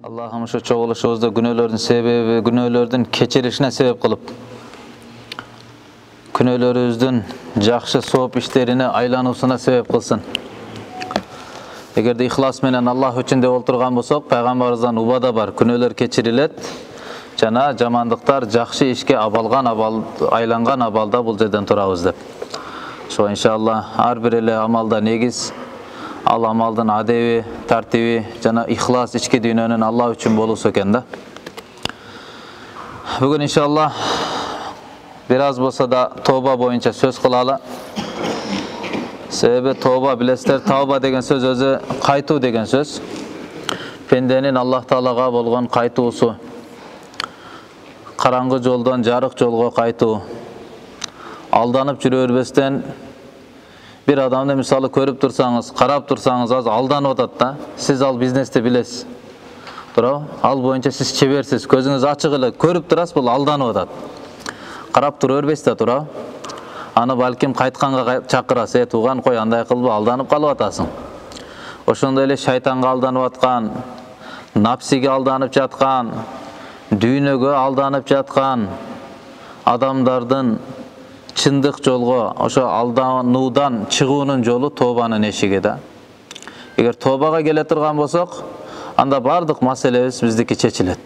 Allah'ım şu çoğuluşumuzda günöylörдүн keçirişine sebep kılıp, günöylörüzdün жақшы сооп иштерине айлануусуна себеп кылсын. Эгерде ихлас менен Аллах үчүн деп олтурган болсок, пайгамбарыбыздан убада бар, күнөөлөр кечирилет жана жамандыктар жақшы ишке айланган абалда бул жерден турабыз деп. Ошо иншалла ар бир эле амалда негиз ал амалдын адеби, тартиби жана ихлас ички дүйнөнүн Аллах үчүн болуусу экен да. Бүгүн иншалла бир аз болсо да тооба боюнча сөз кылалы. Себеби тооба билесиздер, тооба деген сөз өзү кайтуу деген сөз. Пенденин Аллах Таалага болгон кайтуусу. Караңгы жолдон жарык жолго кайтуу. Алданып жүрө бербестен bir adamды мисалы көрүп турсаңыз, карап турсаңыз, аз алданып атат да. Сиз ал бизнести билесиз. Туурабы? Ал боюнча сиз чеберсиз, көзүңүз ачык эле көрүп турасыз, бул алданып атат. Карап тура бербейсиз да, туурабы? Аны балким кайтканга чакырасыз, тууган кой андай кылбы, алданып калып атасың. Ошондой эле шайтанга алданып аткан, напсиге алданып жаткан, дүйнөгө алданып жаткан адамдардын чындык жолго, ошо алдануудан чыгуунун жолу тообанын эшиги да. Эгер тообага келе турган болсок, анда бардык маселебиз биздики чечилет.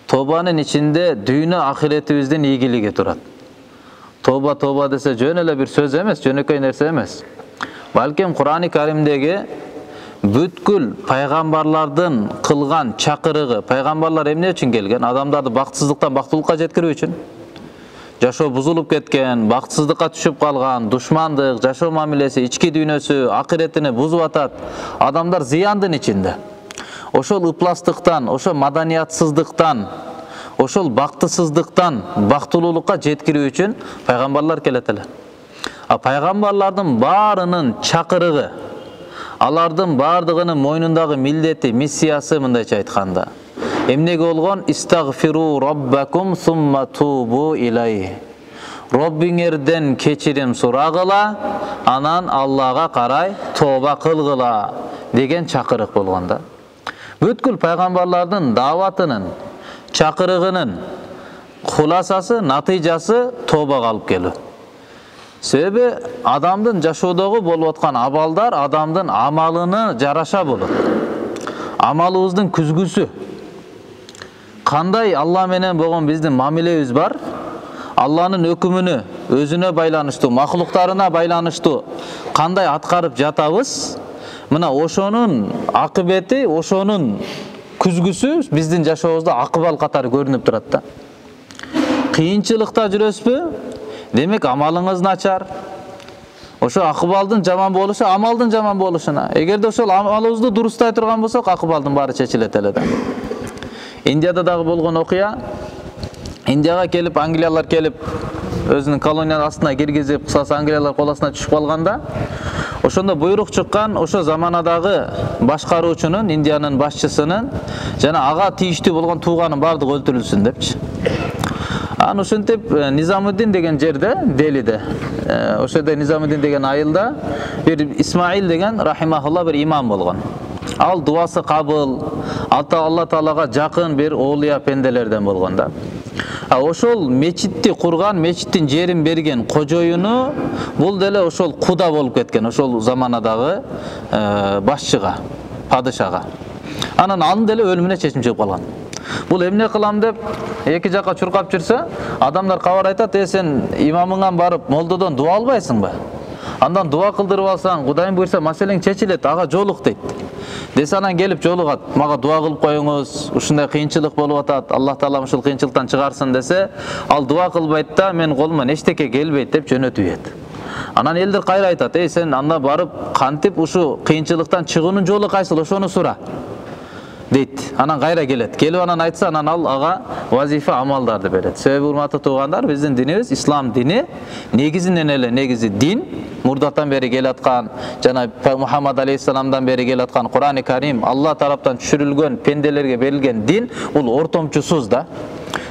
Тообанын ичинде дүйнө ахиретибиздин ийгилиги турат. Тооба десе жөн эле бир сөз эмес, жөнөкөй нерсе эмес. Балким Кур'ан-ы Каримдеги бүткүл пайгамбарлардын кылган чакырыгы, пайгамбарлар эмне үчүн келген? Адамдарды бактсыздыктан бактылыкка жеткирүү үчүн. Жашоо бузулуп кеткен, бактсыздыкка түшүп калган, душмандык, жашоо мамилеси, ички дүйнөсү, акыретини бузуп атат. Адамдар зыяндын ичинде. Ошол ыпластыктан, ошол маданиятсыздыктан, ошол бактысыздыктан бактылуулукка жеткирүү үчүн пайгамбарлар келет эле. А пайгамбарлардын баарынын чакырыгы, алардын бардыгынын мойнундагы милдети, миссиясы мындайча айтканда, эмнеге болгон? Истагфиру роббакум сумма тубу илай. Роббиңерден кечирим сурагыла, анан Аллага карай тооба кылгыла деген чакырык болгон да. Бүткүл пайгамбарлардын дааватынын, чакырыгынын хуласасы, натыйжасы тообага алып келүү. Себеби адамдын жашоодогу болуп аткан абалдар адамдын амалына жараша болот. Амалыбыздын күзгүсү. Кандай Алла менен болгон биздин мамилебиз бар? Алланын өкүмүнө, өзүнө байланыштуу, махлуктарына байланыштуу кандай аткарып жатабыз? Мына ошонун акыбети, ошонун күзгүсү биздин жашообузда акыбал катары көрүнүп турат да. Кыйынчылыкта жүрөсүзбү? Демек амалыңыз начар. Ошо акыбалдын жаман болушу амалдын жаман болушуна. Эгерде ошол амалыбызды дурустай турган болсок, акыбалдын баары чечилет эле да. Индияда дагы болгон окуя. Индияга келип, англиялар келип, өзүнүн колониянын астына киргизип, кысасы англиялар кол астына түшүп калганда, ошондо буйрук чыккан, ошо заманадагы башкаруучунун, Индиянын башчысынын жана ага тийиштүү болгон тууганын бардыгы өлтүрүлсүн депчи. Аны ошентип Низамуддин деген жерде, Делиде, ошода Низамуддин деген айылда бир Исмаил деген рахимахулла бир имам болгон. Ал дуасы кабыл, Алла Таалага жакын бир оолуя пенделерден болгон да. Ошол мечитти курган, мечиттин жерин берген кожоюну бул деле ошол куда болуп кеткен, ошол заманадагы башчыга, падышага. Анан анын деле өлүмүнө чечим чыгып калган. Бул эмне кылам деп эки жакка чуркап жүрсө, адамдар кабар айтат: сен имамыңан барып молдодон дуа албайсыңбы? Андан дуа кылдырып алсаң, Кудайым буйрса маселең чечилет, ага жолук дейт. Десе анан келип жолугат, мага дуа кылып коюңуз, ушундай кыйынчылык болуп атат, Аллах Таала ушул кыйынчылыктан чыгарсын десе, ал дуа кылбайт да, мен колуман эчтеке келбейт деп жөнөтүп ийет. Анан элдер кайра айтат: сен анда барып кантип ушу кыйынчылыктан чыгуунун жолу кайсыл, ошону сура дейт. Анан кайра келет. Келип анан айтса, анан ал ага вазифа амалдарды берет. Себеби урматтуу туугандар, биздин динибиз ислам дини, негизинен эле негизи дин, мурдатан бери келаткан, жана Мухаммад алейхиссаламдан бери келаткан Кур'ан-ы Карим, Алла тараптан түшүрүлгөн пенделерге берилген дин, бул ортомчусуз да.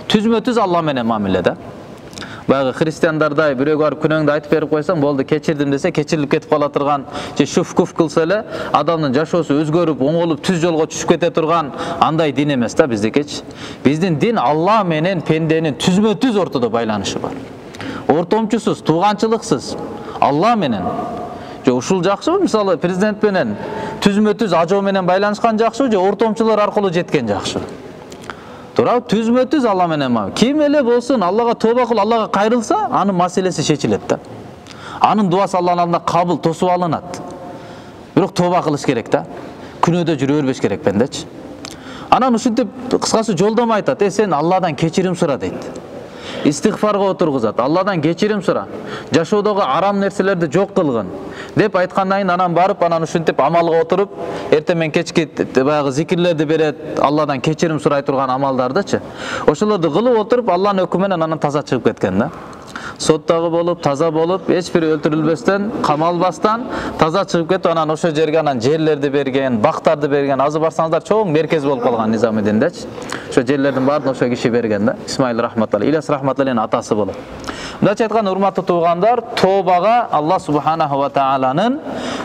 Түзмө-түз Алла менен мамиле да. Баягы христиандардай бирөөгө барып күнөөңдү айтып берип койсоң, болду кечирдим десе кечирилип кетип кала турган, же шуф-куф кылса эле адамдын жашоосу өзгөрүп, оңолуп, түз жолго түшүп кете турган андай дин эмес да биздикичи. Биздин дин Алла менен пенденин түзмө-түз ортодо байланышы бар. Ортомчусуз, тууганчылыксыз, Алла менен. Же ушул жакшыбы? Мисалы, президент менен түзмө-түз ажоо менен байланышкан жакшыбы, же ортомчулар аркылуу жеткен жакшыбы? Туурабы? Түзмө-түз Алла менен ма? Ким эле болсун, Аллага тооба кылып, Аллага кайрылса, анын маселеси чечилет да. Анын дуасы Алланын алдында кабыл, тосуп алынат. Бирок тооба кылыш керек да. Күнөөдө жүрө бербеш керек бендечи. Анан ушинтип кыскасы жолдомо айтат. Сен Алладан кечирим сура дейт. Истигфарга отургузат. Алладан кечирим сура. Жашоодогу арам нерселерди жок кылгын деп айткандан кийин анан барып, анан ушинтип амалга отуруп, эртең менен кечки баягы зикирлерди берет, Алладан кечирим сурай турган амалдардычы. Ошолорду кылып отуруп, Алланын өкүмү менен анан таза чыгып кеткен да. Соттагы болуп, таза болуп, эч бир өлтүрүлбөстөн, камалбастан таза чыгып кетип, анан ошо жерге анан жерлерди берген, бактарды берген. Азыр барсаңыздар чоң меркез болуп калган Низамидиндечи. Ошо жерлердин баарын ошо киши берген да. Исмаил рахматалла, Ильяс рахматалланын атасы болот. Мындайча айтканда, урматтуу туугандар, тообага Алла субханаху ва тааlanын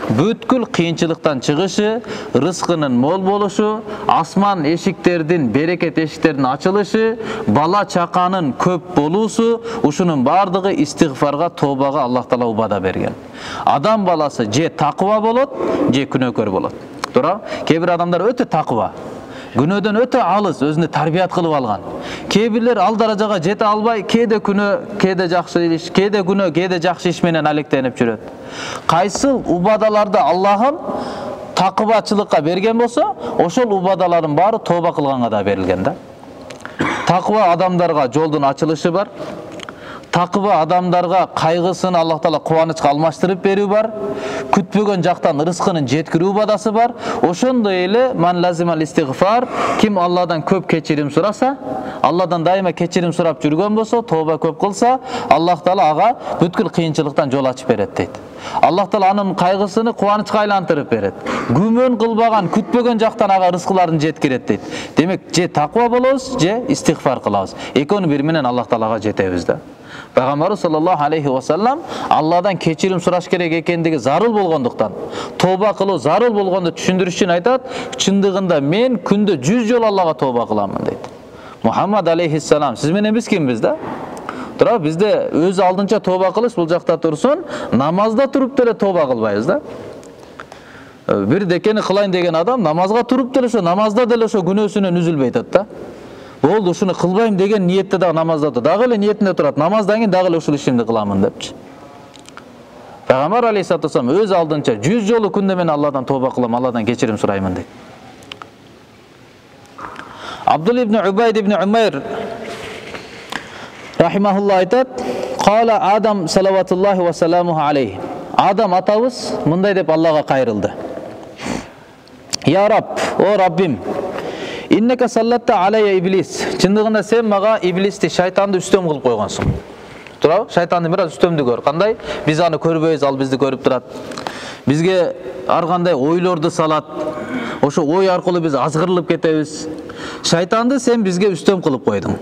бүткүл кыйынчылыктан чыгышы, рызкынын мол болушу, асман эшиктердин, берекет эшиктердин ачылышы, бала чаканын көп болуусу, ушунун бардыгы истигфарга, тообага Аллах таала убада берген. Адам баласы же такыба болот, же күнөөкөр болот. Туура? Кээ бир адамдар өтө такыба, күнөөдөн өтө алыс, өзүнү тарбият кылып алган. Кээ бирлер ал даражага жете албай, кээде күнөө, кээде жакшы иш, кээде күнөө, кээде жакшы иш менен алектенип жүрөт. Кайсыл убадаларды Аллахым такыбачылыкка берген болсо, ошол убадалардын баары тооба кылганга да берилген да. Такыба адамдарга жолдун ачылышы бар. Такыба адамдарга кайгысын Аллах таала кубанычка алмаштырып берүү бар. Күтпөгөн жактан рызкынын жеткирүү убадасы бар. Ошондой эле ман лазимал истигфар, ким Алладан көп кечирим сураса, Алладан дайыма кечирим сурап жүргөн болсо, тооба көп кылса, Аллах таала ага бүткүл кыйынчылыктан жол ачып берет дейт. Аллах таала анын кайгысыны кубанычка айлантырып берет. Күмөн кылбаган, күтпөгөн жактан ага рызкыларын жеткирет дейт. Демек, же таква болобуз, же истигфар кылабыз. Экөөнү бири менен Аллах таалага жетебиз да. Пайгамбарыбыз саллаллаху алейхи ва саллам Алладан кечирим сураш керек экендиги зарыл болгондуктан, тооба кылуу зарыл болгонду түшүндүрүш үчүн айтат, чындыгында мен күндө 100 жолу Аллага тооба кыламын дейт. Мухаммад алейхиссалам, сиз менен биз кимбиз да? Тура, бизде өз алдынча тооба кылыш бул жакта турсун, намазда туруп деле тооба кылбайбыз да. Бир декени кылайын деген адам намазга туруп деле ошо намазда деле ошо күнөөсүнөн үзүлбөй атат да. Болду, ушуну кылбайм деген ниетте да намазда турат. Дагы эле ниетинде турат. Намаздан кийин дагы эле ушул ишимди кыламын депчи. Пайгамбар алейхиссалату вассалам өз алдынча 100 жолу күндө мен Алладан тооба кылам, Алладан кечирим сураймын дейт. Абдул ибн Убайд ибн Умайр рахимахулла айтат: "Кала Адам салаватуллахи ва саламуху алейхи." Адам атабыз мындай деп Аллага кайрылды. "Я Рабб, о Раббим, иннека саллатта алайя иблис." Чындыгында сен мага иблисти, шайтанды үстөм кылып койгонсуң. Туурабы? Шайтанды бир аз үстөмдүгөр. Кандай? Биз аны көрбөйбүз, ал бизди көрүп турат. Бизге ар кандай ойлорду салат. Ошо ой аркылуу биз азгырылып кетебиз. Шайтанды сен бизге үстөм кылып койдуң.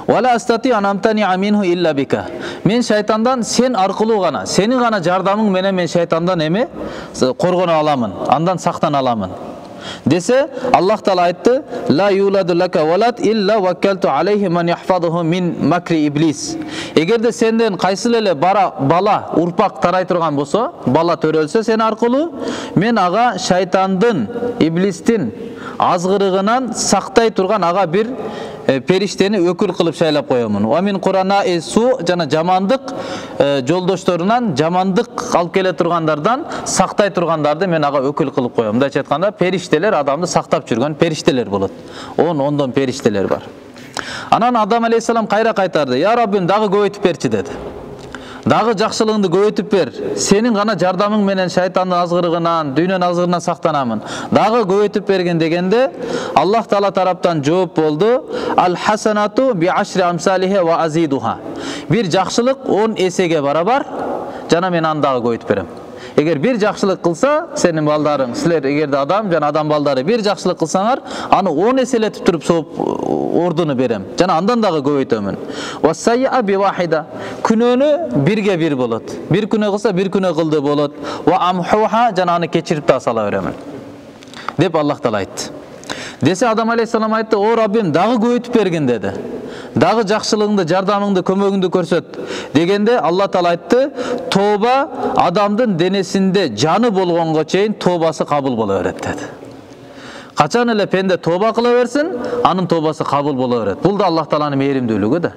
Вала астати анамтани аминху илля бика. Мен шайтандан сен аркылуу гана, сенин гана жардамың менен мен шайтандан эме коргоно аламын, андан сактана аламын. Десе, Аллах таала айтты: "Ла юладу лака валад илля ваккалту алейхи ман яхфазуху мин макри иблис." Эгерде сенден кайсыл эле бала урпак тарай турган болсо, бала төрөлсө сен аркылуу, мен ага шайтандын, иблистин азгырыгынан сактай турган ага бир периштени өкүл кылып шайлап коемун. Ва мин курана су, жана жамандык жолдошторунан, жамандык алып келе тургандардан сактай тургандарды мен ага өкүл кылып коем. Мындайча айтканда, периштелер адамды сактап жүргөн периштелер болот. Ондон периштелер бар. Анан Адам алейхиссалам кайра кайтарды: "Я Раббим, дагы көбөйтүп берчи" деди. Дагы жакшылыгыңды көбөйтүп бер. Сенин гана жардамың менен шайтандын азгырыгынан, дүйнөнүн азгырыгынан сактанамын. Дагы көбөйтүп берген дегенде, Аллах таала тараптан жооп болду: "Ал хасанату би ашри амсалихи ва азидуха." Бир жакшылык 10 эсеге барабар, жана мен аны дагы көбөйтүп берем. Эгер бир жакшылык кылса, сенин балдарың, силер эгерде адам жана адам балдары бир жакшылык кылсаңар, аны 10 эселетип туруп сооп ордуну берем. Жана андан дагы көбөйтөмүн. Васайя би вахида. Күнөөнү бирге бир болот. Бир күнөө кылса, бир күнөө кылды болот. Ва амхуха, жана аны кечирип да сала беремин. Деп Аллах Таала айтты. Десе Адам алейхиссалам айтты: "О Раббим, дагы көбөйтүп бергин" деди. Дагы жакшылыгыңды, жардамыңды, көмөгүңдү көрсөт дегенде Алла Таала айтты: "Тооба адамдын денесинде жаны болгонго чейин тообасы кабыл боло берет" деди. Качан эле пенде тооба кыла берсин, анын тообасы кабыл боло берет. Бул да Аллах Тааланын мээримдүүлүгү да.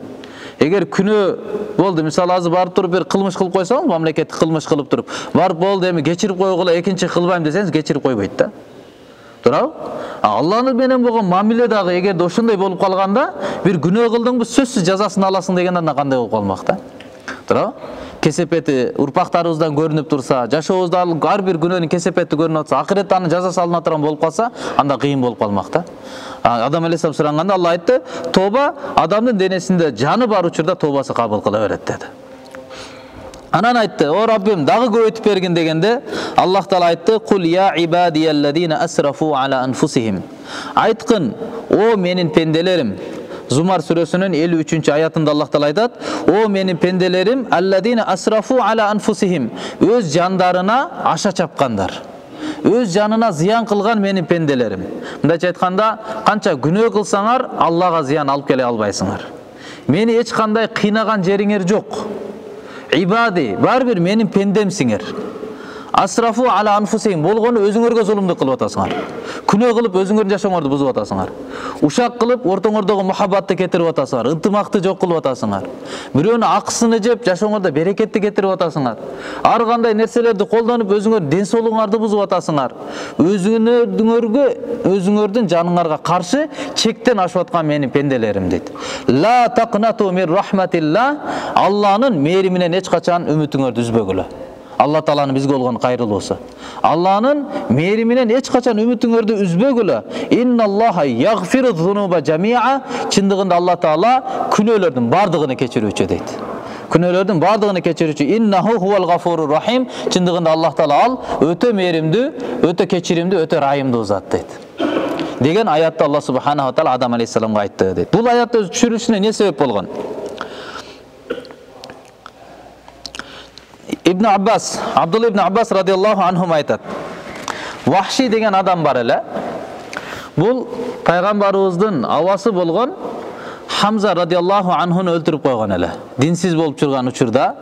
Эгер күнөө болду, мисалы азыр барып туруп бир кылмыш кылып койсоң, мамлекеттик кылмыш кылып туруп, барып болду эми кечирип койгула, экинчи кылбайм десеңиз, кечирип койбойт да. Туурабы? Алланын менен болгон мамиле дагы эгерде ошондой болуп калганда, бир күнөө кылдыңбы, сөзсүз жазасын аласың дегенде анда кандай болуп калмак да? Туурабы? Кесепети урпактарыбыздан көрүнүп турса, жашообузда ар бир күнөөнүн кесепети көрүнүп атса, акыретте анын жазасы алына турган болуп калса, анда кыйын болуп калмак да. Адам алейхиссалам суранганда Алла айтты: "Тооба адамдын денесинде жаны бар учурда тообасы кабыл кыла берет" деди. Анан айтты: "О Раббим, дагы көбөйтүп бергин" дегенде Аллах Таала айтты: "Кул я ибадияллазина асрафу ала анфусихим". Айткын: "О менин пенделерим". Зумар сүрөсүнүн 53-аятында Аллах Таала айтат: "О менин пенделерим, аллазина асрафу ала анфусихим". Өз жандарына аша чапкандар. Өз жанына зыян кылган менин пенделерим. Мындайча айтканда, канча күнөө кылсаңар, Аллага зыян алып келе албайсыңар. Мени эч кандай кыйнаган жериңер жок. Ибади, бар бир менин пендемсиңер. Асрафу ала анфусихим, болгону өзүңөргө зулумдук кылып атасыңар. Күнөө кылып өзүңөрдүн жашооңорду бузуп атасыңар. Ушак кылып ортоңордогу мухаббатты кетирип атасыңар, ынтымакты жок кылып атасыңар. Бирөөнүн акысыны жеп жашооңордо берекетти кетирип атасыңар. Ар кандай нерселерди колдонуп өзүңөрдүн ден соолугуңарды бузуп атасыңар. Өзүңөрдүн жаныңарга каршы чектен ашып аткан менин пенделерим дейт. Ла тaqнату мин рахматилла, Алланын мээриминен эч качан үмүтүңөрдү үзбөгүлө. Алла Тааланын бизге болгон кайрылуусу. Алланын мээриминен эч качан үмүтүңөрдү үзбөгүлө. Инналлаха ягфиру зунуба жамиа. Чындыгында Алла Таала күнөөлөрдүн бардыгын кечирүүчү дейт. Күнөөлөрдүн бардыгын кечирүүчү. Иннаху хувал гафурур рахим. Чындыгында Аллах Таала ал өтө мээримдүү, өтө кечиримдүү, өтө райымдуу зат дейт. Деген аятты Алла субханаху таала Адам алейхиссаламга айтты дейт. Бул аятты түшүрүшүнө эмне себеп болгон? Ибн Аббас, Абдулла ибн Аббас радиаллаху анхум айтат: Вахши деген адам бар эле. Бул пайгамбарыбыздын авасы болгон Хамза радиаллаху анхуну өлтүрүп койгон эле. Динсиз болуп жүргөн учурда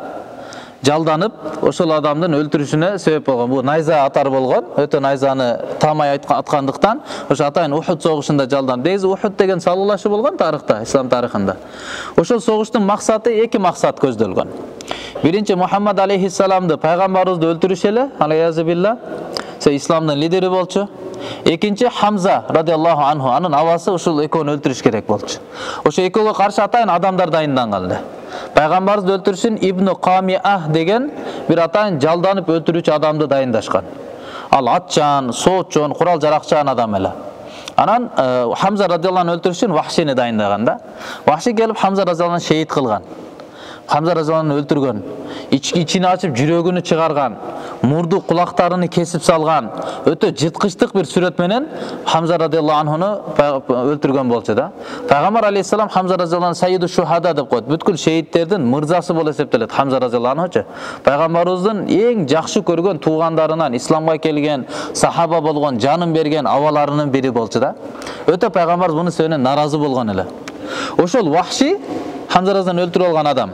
жалданып, ошол адамдын өлтүрүшүнө себеп болгон. Бул найза атар болгон, өтө найзаны таамай аткандыктан, ошо атайын Ухуд согушунда жалданып. Негизи Ухуд деген салуулашы болгон тарыхта, ислам тарыхында. Ошол согуштун максаты эки максат көздөлгөн. Биринчи, Мухаммад алейхиссаламды, пайгамбарыбызды өлтүрүш эле, алейхи исламдын лидери болчу. Экинчи, Хамза радиаллаху анху, анын авасы, ушул экөөнү өлтүрүш керек болчу. Ошо экөөгө каршы атайын адамдар дайынданган эле. Пайгамбарыбызды өлтүрүшүн Ибн Камиах деген бир атайын жалданып өлтүрүүчү адамды дайындашкан. Ал атчан, соотчон, курал жаракчан адам эле. Анан Хамза радиаллаху анху өлтүрүшүн Вахшини дайындаган да. Вахши келип Хамза радиаллаху анху шейит кылган. Хамза радиаллаху анху өлтүргөн. Ичини ачып жүрөгүнү чыгарган, мурду кулактарыны кесип салган, өтө жыткычтык бир сүрөт менен Хамза радиаллаху анхуну өлтүргөн болчу да. Пайгамбар алейхиссалам Хамза радиаллаху анху Сайyidu шухада деп коет. Бүткүл шейиттердин мырзасы болуп эсептелет Хамза радиаллаху анхучу. Пайгамбарыбыздын эң жакшы көргөн туугандарынан, исламга келген, сахаба болгон, жанын берген абаларынын бири болчу да. Өтө пайгамбарыбыз муну сөөнөн наразы болгон эле. Ошол Вахши Хамза радиаллаху өлтүрүп алган адам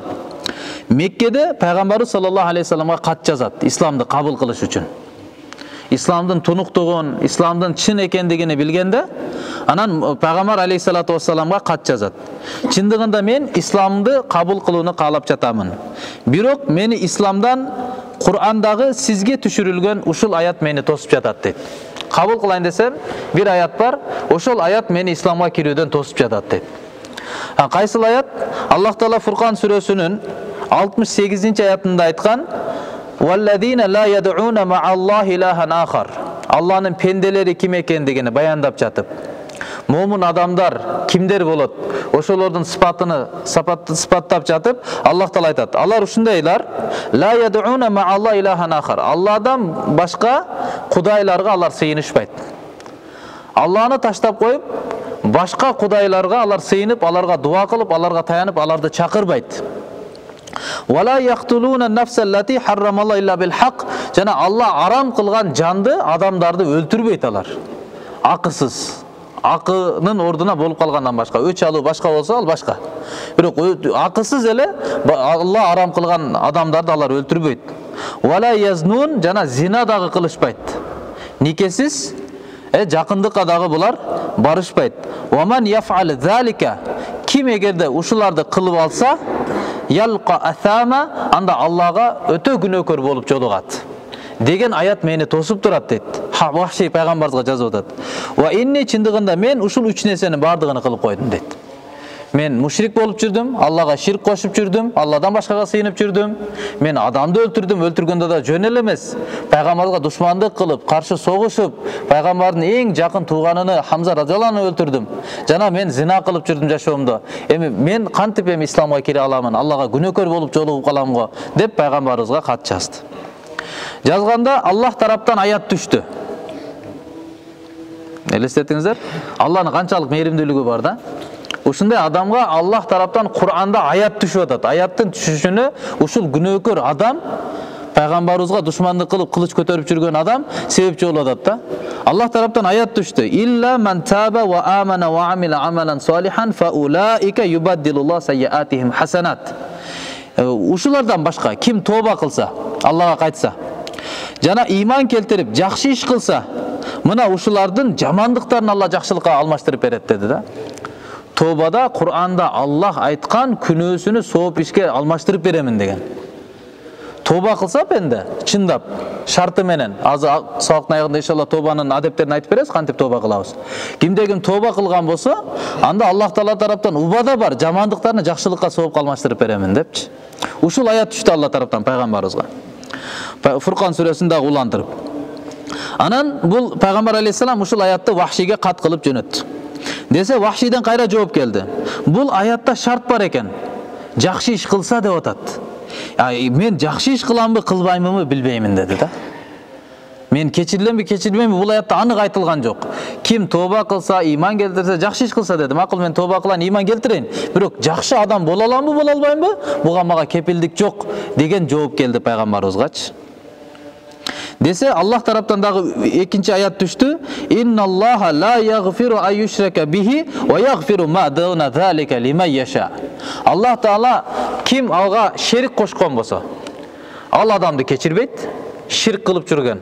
Меккеде пайгамбарыбыз саллаллаху алейхи вассаламга кат жазат, исламды кабыл кылыш үчүн. Исламдын тунуктугун, исламдын чын экендигини билгенде, анан пайгамбар алейхиссалату вассаламга кат жазат. Чындыгында мен исламды кабыл кылууну каалап жатамын. Бирок мени исламдан Кур'андагы сизге түшүрүлгөн ушул аят мени тосуп жатат дейт. Кабыл кылайын десем, бир аят бар, ошол аят мени исламга кирүүдөн тосуп жатат дейт. Кайсыл аят? Аллах Таала Фуркан сүрөсүнүн 68 аятында айткан: "Валлазина ла яд'уна ма'аллахи илахан ахар". Алланын пенделери ким экендигини баяндап жатып, момун адамдар кимдер болот? Ошолордун сыпаттап жатып, Аллах Таала айтат. Алар ушундайлар: ла ядуна ма'алла илахан ахар. Алладан башка кудайларга алар сыйынышпайт. Алланы таштап коюп, башка кудайларга алар сыйынып, аларга дуа кылып, аларга таянып, аларды чакырбайт. Вала яхтулуна нафсаллати харрамалла илля бил хак. Жана Алла арам кылган жанды, адамдарды өлтүрбөйт алар. Акысыз. Акынын ордуна болуп калгандан башка, өч алуу башка болсо ал башка. Бирок акысыз эле Алла арам кылган адамдарды алар өлтүрбөйт. Вала язнун, жана зина дагы кылышпайт. Никесиз жакындыкка дагы булар барышпайт. Ваман яфал залика, ким эгерде ушуларды кылып алса, ялqa асама, анда Аллага өтө күнөөкөр болуп жолугат деген аят мени тосуп турат дейт. Вахши пайгамбарыбызга жазып атат. Ва инни, чындыгында мен ушул үч нерсенин бардыгын кылып койдум дейт. Мен мушрик болуп жүрдүм, Аллага ширк кошуп жүрдүм, Алладан башкага сыйынып жүрдүм. Мен адамды өлтүрдүм, өлтүргөндө да жөн эле эмес. Пайгамбарга душмандык кылып, каршы согушуп, пайгамбардын эң жакын тууганын Хамза радhiyallahu anhu өлтүрдүм. Жана мен зина кылып жүрдүм жашоомдо. Эми мен кантип исламга кире аламын? Аллага күнөөкөр болуп жолугуп калам го, деп пайгамбарыбызга кат жазды. Жазганда Аллах тараптан аят түштү. Элестетиңиздер? Алланын канчалык мээримдүүлүгү бар да? Ушундай адамга Аллах тараптан Кур'анда аят түшүп атат. Аяттын түшүшүнө ушул күнөөкөр адам, пайгамбарыбызга душмандык кылып кылыч көтөрүп жүргөн адам себепчи болуп атат да. Аллах тараптан аят түштү. Илля ман таба ва амана ва амила амалан салихан фа улаика юбаддилуллаху сайяатихим хасанат. Ушулардан башка ким тоба кылса, Аллага кайтса, жана иман келтирип жакшы иш кылса, мына ушулардын жамандыктарын Алла жакшылыкка алмаштырып берет деди да. Тобада Кур'анда Аллах айткан күнөөсүнү сооп ишке алмаштырып беремин деген. Тоба кылса бенде чындап шарты менен, азыр сабактын аягында иншалла тобанын адептерин айтып беребиз, кантип тоба кылабыз. Кимде ким тоба кылган болсо, анда Аллах Таала тараптан убада бар, жамандыктарын жакшылыкка сооп алмаштырып беремин депчи. Ушул аят түштү Алла тараптан пайгамбарыбызга. Фуркан сүрөсүндө улантырып. Анан бул пайгамбар алейхиссалам ушул аятты Вахшиге кат кылып жөнөттү. Десе Вахшиден кайра жооп келди. Бул аятта шарт бар экен. Жакшы иш кылса деп атат. Мен жакшы иш кыламбы, кылбаймынбы билбеймин деди да. Мен кечирилемби, кечирилбеймби, бул аятта анык айтылган жок. Ким тоба кылса, иман келтирсе, жакшы иш кылса деди. Макул, мен тоба кылайын, иман келтирейин. Бирок жакшы адам боло аламбы, боло албаймбы? Буга мага кепилдик жок деген жооп келди пайгамбарыбызгачы. Десе Аллах тараптан дагы экинчи аят түштү. Инналлаха ла ягфиру ан юшрака бихи ва ягфиру ма дуна залика лиман яша. Аллах Таала ким алга шерик кошкон болсо, ал адамды кечирбейт. Ширк кылып жүргөн,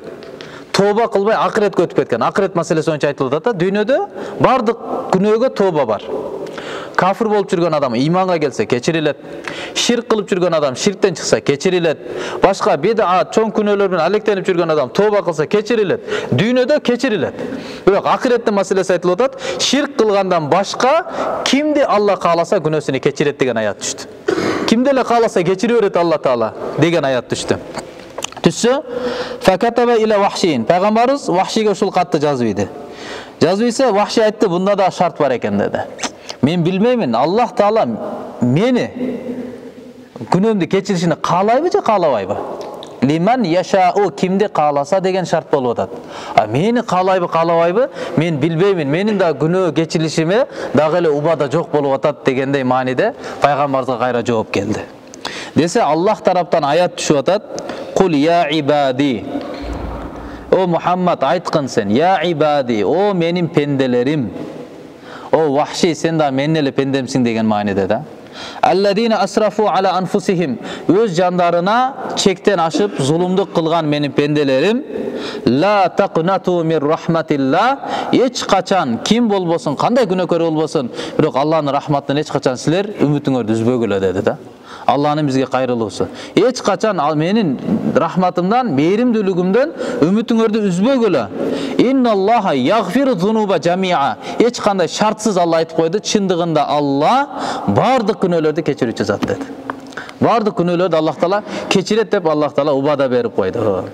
тоба кылбай акыретке өтүп кеткен. Акырет маселеси боюнча айтылып атат да. Дүйнөдө бардык күнөөгө тоба бар. Кафир болуп жүргөн адам иманга келсе кечирилет. Ширк кылып жүргөн адам ширктен чыкса кечирилет. Башка бидат, чоң күнөөлөр менен алектенип жүргөн адам тоба кылса кечирилет. Дүйнөдө кечирилет. Бирок акыреттин маселеси айтылып атат. Ширк кылгандан башка кимди Алла кааласа күнөөсүн кечирет деген аят түштү. Кимди эле кааласа кечире берет Алла Таала деген аят түштү. Түшсө, факатаба иля Вахшин. Пайгамбарыбыз Вахшиге ушул катты жазып иди. Жазып ийсе Вахши айтты, бунда да шарт бар экен деди. Мен билмеймин, Аллах Таала мени күнөөмдү кечиришини каалайбы же каалабайбы? Лиман яшау, кимди кааласа деген шарт болуп атат. Мени каалайбы, каалабайбы? Мен билбеймин. Менин да күнөө кечирилишиме дагы эле убада жок болуп атат дегендей мааниде пайгамбарыбызга кайра жооп келди. Десе Аллах тараптан аят түшүп атат. Кул я ибади. О Мухаммад, айткын сен, я ибади, о менин пенделерим. О Вахши, сен да менин эле пендемсиң деген мааниде да. Алладина асрафу ала анфусихим, өз жандарына чектен ашып зулумдук кылган менин пенделерим. Ла тaqnatu мир рахматилла, эч качан ким болбосун, кандай күнөөкөр болбосун, бирок Алланын рахматынан эч качан силер үмүтүңөрдү үзбөгүлө деди да. Алланын бизге кайрылуусу. Эч качан менин рахматымдан, мээримдүүлүгүмдөн үмүтүңөрдү үзбөгүлө. Инналлаха ягфиру зунуба жамиа. Эч кандай шартсыз Алла айтып койду, чындыгында Алла бардык күнөөлөрдү кечирүүчү зат деди. Бардык күнөөлөрдү Аллах Таала кечирет деп Аллах Таала убада берип койду.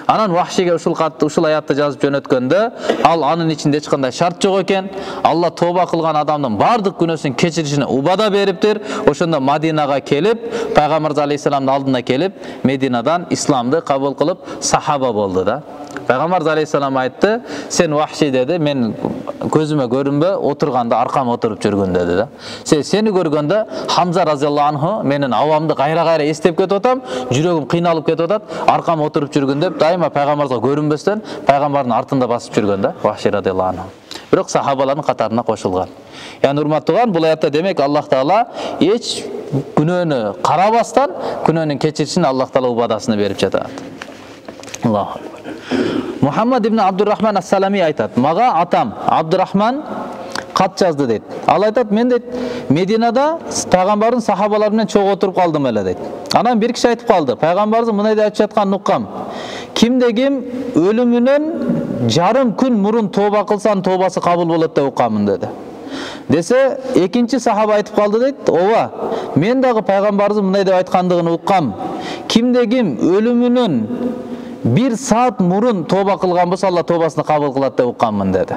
Анан Вахшиге ушул катты, ушул аятты жазып жөнөткөндө, ал анын ичинде эч кандай шарт жок экен. Алла тооба кылган адамдын бардык күнөөсүн кечиришине убада бериптир. Ошондо Мадинага келип, Пайгамбарыбыз алейхисаламдын алдына келип, Мединадан исламды кабыл кылып сахаба болду да. Пайгамбарыбыз алейхисалам айтты: "Сен Вахши деди, мен көзүмө көрүнбө, отурганда аркам отуруп жүргүн" деди да. Сени көргөндө Хамза разияллаху анху менин абамды кайра-кайра эстеп кетип атам, жүрөгүм кыйналып кетип атат, аркам отуруп жүргүн деп дайыма пайгамбарга көрүнбөстөн пайгамбардын артында басып жүргөн да, Вахши радияллаху анху. Бирок сахабалардын катарына кошулган. Яны урматтуулар, бул аятта демек Аллах Таала эч күнөөнү карабастан күнөөнүн кечиришин Аллах Таала убадасын берип жатат. Аллаху акбар. Мухаммад ибн Абдуррахман ас-Салами айтат: "Мага атам Абдуррахман кат жазды" дейт. Ал айтат: "Мен дейт Мединада пайгамбардын сахабалары менен чогуу отуруп калдым эле" дейт. Анан бир киши айтып калды: "Пайгамбарыбыз мындай деп айтып жатканын уккам. Кимде ким өлүмүнөн жарым күн мурун тооба кылса, тообасы кабыл болот деп уккамын" деди. Десе, экинчи сахаба айтып калды дейт: "Ооба, мен дагы пайгамбарыбыз мындай деп айткандыгын уккам. Кимде ким өлүмүнөн 1 саат мурун тооба кылган болсо, Алла тообасын кабыл кылат деп уккамын" деди.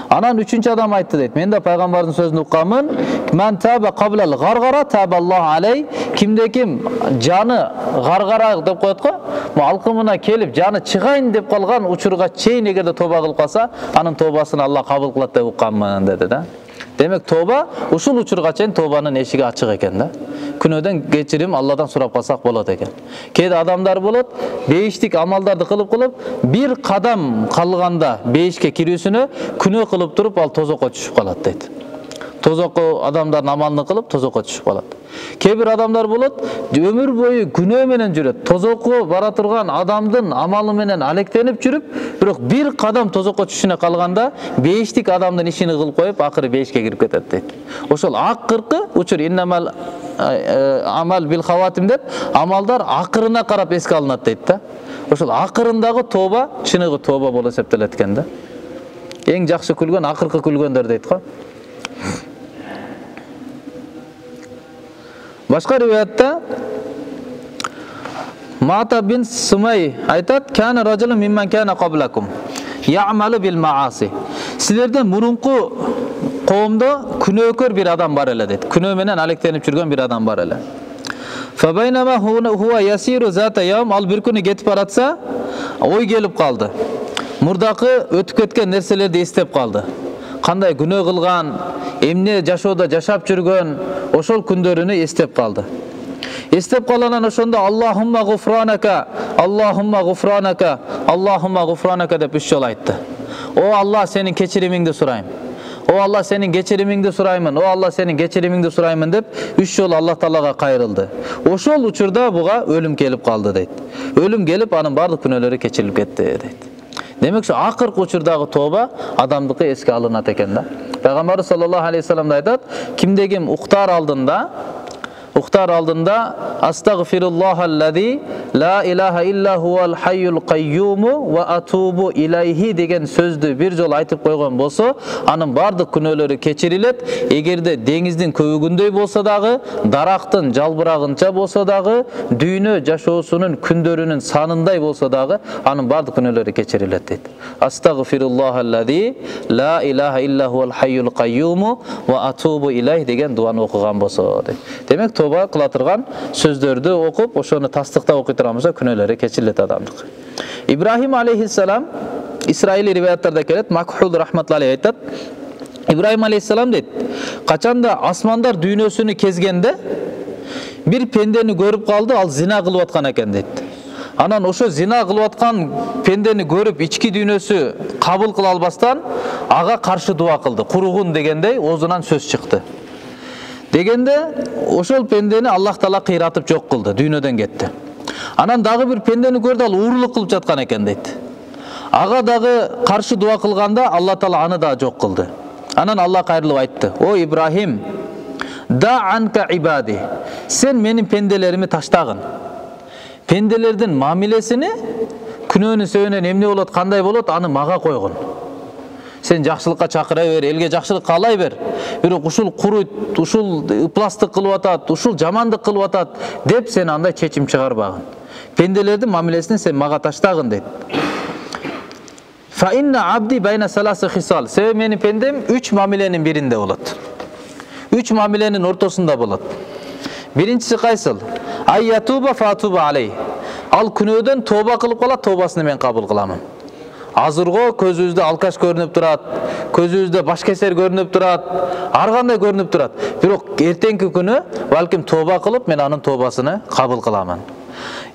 Анан үчүнчү адам айтты дейт: "Мен да пайгамбардын сөзүн уккамын. Ман таба каблал гаргара таба Аллах алей. Кимде ким жаны гаргара деп коет го, алкымына келип жаны чыгайын деп калган учурга чейин эгерде тооба кылып калса, анын тообасын Алла кабыл кылат деп уккамын" деди да. Демек тооба ушул учурга чейин тообанын эшиги ачык экен да. Күнөөдөн кечирим Алладан сурап калсак болот экен. Кээде адамдар болот, бейиштик амалдарды кылып, бир кадам калганда бейишке кирүүсүнө күнөө кылып туруп, ал тозокко түшүп калат дейт. Тозокко адамдардын амалын кылып тозокко түшүп калат. Кээ бир адамдар болот, өмүр бою күнөө менен жүрөт. Тозокко бара турган адамдын амалы менен алектенип жүрүп, бирок бир кадам тозокко түшүнө калганда бейиштик адамдын ишин кылып коюп, акыры бейишке кирип кетет дейт. Ошол акыркы учур иннамал амал бил хаватим деп, амалдар акырына карап эске алынат дейт да. Ошол акырындагы тооба чыныгы тооба болуп эсептелет экен да. Эң жакшы күлгөн акыркы күлгөндөр дейт го. Башка риваятта Мата бин Сумай айтат: "Кана ражулун мимман кана каблакум я'малу бил мааси." Силерден мурунку коомдо күнөөкөр бир адам бар эле дейт. Күнөө менен алектенип жүргөн бир адам бар эле. Фа байнама хува ясиру зата яум, ал бир күнү кетип баратса, ой келип калды. Мурдакы өтүп кеткен нерселерди эстеп калды. Кандай күнөө кылган, эмне жашоодо жашап жүргөн, ошол күндөрүнү эстеп калды. Эстеп калгандан ошондо Аллахумма гуфранака, Аллахумма гуфранака, Аллахумма гуфранака деп 3 жолу айтты. О Алла, сенин кечиримиңди сурайм. О Алла, сенин кечиримиңди сураймын. О Алла, сенин кечиримиңди сураймын деп 3 жолу Аллах Таалага кайрылды. Ошол учурда буга өлүм келип калды дейт. Өлүм келип, анын бардык күнөөлөрү кечирилип кетти дейт. Демек ошо акыркы учурдагы тооба адамдыкы эске алынат экен да. Пайгамбар саллаллаху алейхи вассалам айтат: "Кимде ким уктар алдында астагфируллахаллази ла илаха илля хувал хайюл кайюму ва атубу илайхи деген сөздү бир жолу айтып койгон болсо, анын бардык күнөөлөрү кечирилет. Эгерде деңиздин көбүгүндөй болсо дагы, дарактын жалбырагынча болсо дагы, дүйнө жашоосунун күндөрүнүн санындай болсо дагы, анын бардык күнөөлөрү кечирилет дейт. Астагфируллахаллази ла илаха илля хувал хайюл кайюму ва атубу илайхи деген дуаны окуган болсо дейт. Демек тооба кыла турган сөздөрдү окуп, ошону тастыктап окуй турган болсо күнөөлөрү кечирилет адамдык. Ибрахим алейхиссалам Исраили риваяттарда келет, Макхул рахматуллахи айтат: Ибрахим алейхиссалам дейт, качанда асмандар дүйнөсүнү кезгенде бир пендени көрүп калды, ал зина кылып аткан экен дейт. Анан ошо зина кылып аткан пендени көрүп ички дүйнөсү кабыл кыла албастан ага каршы дуа кылды. Куругун дегендей оозунан сөз чыкты. Дегенде ошол пендени Аллах Таала кыйратып жок кылды, дүйнөдөн кетти. Анан дагы бир пендени көрдү, ал уурулук кылып жаткан экен дейт. Ага дагы каршы дуа кылганда Алла Таала аны да жок кылды. Анан Алла кайрылып айтты: "О Ибрахим, да анка ибади. Сен менин пенделерими таштагын. Пенделердин мамилесини, күнөөнүн себебинен эмне болот, кандай болот, аны мага койгон. Сен жакшылыкка чакыра бер, элге жакшылык каалай бер. Бирок ушул куруйт, ушул ыпластык кылып атат, ушул жамандык кылып атат деп сен андай чечим чыгарбагын. Пенделердин мамилесин сен мага таштагын дейт. Fa inna abdi bayna salasi hisal. Себеби менин пендем 3 мамиленин биринде болот. 3 мамиленин ортосунда болот. Биринчиси кайсыл? Айятуба фатуба алей. Ал күнөөдөн тооба кылып калат, тообасын мен кабыл кыламын. Азырго көзүбүздө алкаш көрүнүп турат, көзүбүздө баш кесер көрүнүп турат, ар кандай көрүнүп турат. Бирок эртеңки күнү балким тооба кылып мен анын тообасын кабыл кыламын.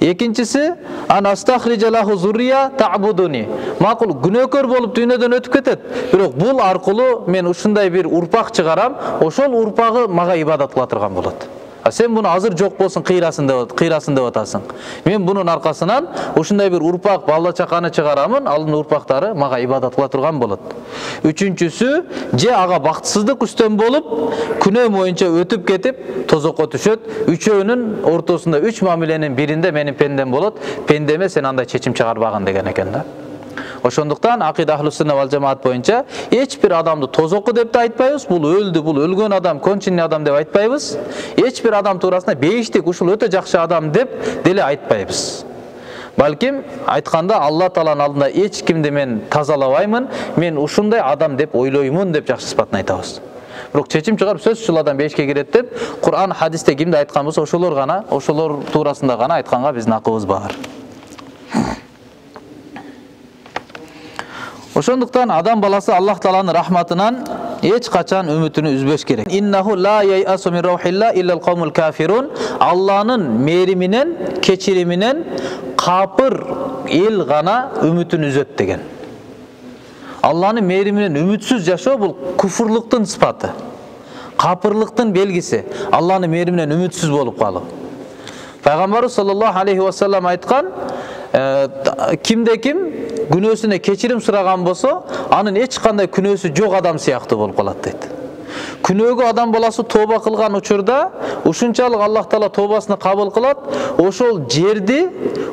Экинчиси ан астахрижа лаху зуррия та'будуни. Макул күнөөкөр болуп дүйнөдөн өтүп кетет. Бирок бул аркылуу мен ушундай бир урпак чыгарам, ошол урпагы мага ибадат кыла турган болот. Сен буну азыр жок болсун кыйрасын деп атасың. Мен бунун аркасынан ушундай бир урпак балла чаканы чыгарамын, алын урпактары мага ибадат кыла турган болот. Үчүнчүсү, же ага бактысыздык үстөн болуп, күнөө боюнча өтүп кетип, тозокко түшөт. Үчөөнүн ортосунда 3 мамиленин биринде менин пендем болот. Пендеме сен андай чечим чыгарбагын деген экен да. Ошондуктан акида ахлус-сунна вал жамаат боюнча эч бир адамды тозокку деп да айтпайбыз, бул өлдү, бул өлгөн адам, кончинный адам деп айтпайбыз. Эч бир адам туурасында бейиштик, ушул өтө жакшы адам деп деле айтпайбыз. Балким айтканда Алла Тааланын алдында эч кимди мен тазалабаймын, мен ушундай адам деп ойлоймун деп жакшы сыпатын айтабыз. Бирок чечим чыгарып сөзсүз ушул адам бейишке кирет деп Кур'ан, хадисте кимди айткан болсо ошолор туурасында гана айтканга биздин акыбыз бар. Ошондуктан адам баласы Аллах Тааланын рахматынан эч качан үмүтүнү үзбөш керек. Иннаху ла яйасу мин раухилла иллал каумул кафирун. Алланын мээриминен, кечириминен капыр эл гана үмүтүн үзөт деген. Алланын мээриминен үмүтсүз жашоо бул куфурлуктун сыпаты. Капырлыктын белгиси. Алланын мээриминен үмүтсүз болуп калуу. Пайгамбарыбыз саллаллаху алейхи ва саллям айткан, кимде ким күнөөсүнө кечирим сураган болсо, анын эч кандай күнөөсү жок адам сыяктуу болуп калат дейт. Күнөөгө адам баласы тооба кылган учурда ушунчалык Аллах Таала тообасын кабыл кылат, ошол жерди,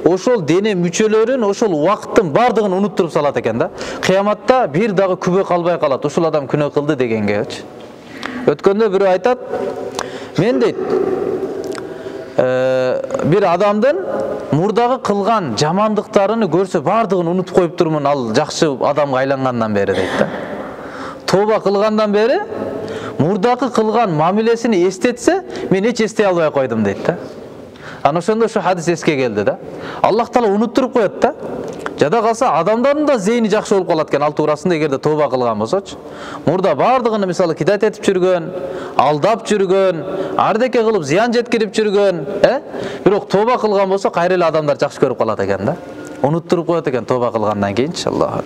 ошол дене мүчөлөрүн, ошол убакыттын бардыгын унуттуруп салат экен да. Кыяматта бир дагы күбө калбай калат, ушул адам күнөө кылды дегенгечи. Өткөндө бирөө айтат, мен дейт, бир адамдын мурдагы кылган жамандыктарын көрсө бардыгын унутуп коюп турмун, ал жакшы адамга айлангандан бери дейт да. Тооба кылгандан бери мурдагы кылган мамилесини эстетсе, мен эч эстей албай койдум дейт да. Ана ошондо ошо хадис эске келди да. Аллах Таала унуттуруп коет да. Жада калса адамдардын да зейни жакшы болуп калат экен, ал туурасында эгерде тооба кылган болсочу. Мурда бардыгын мисалы кидат этип жүргөн, алдап жүргөн, ардеке кылып зыян жеткирип жүргөн, бирок тооба кылган болсо кайра эле адамдар жакшы көрүп калат экен да. Унуттуруп коет экен тооба кылгандан кийин, иншаллах.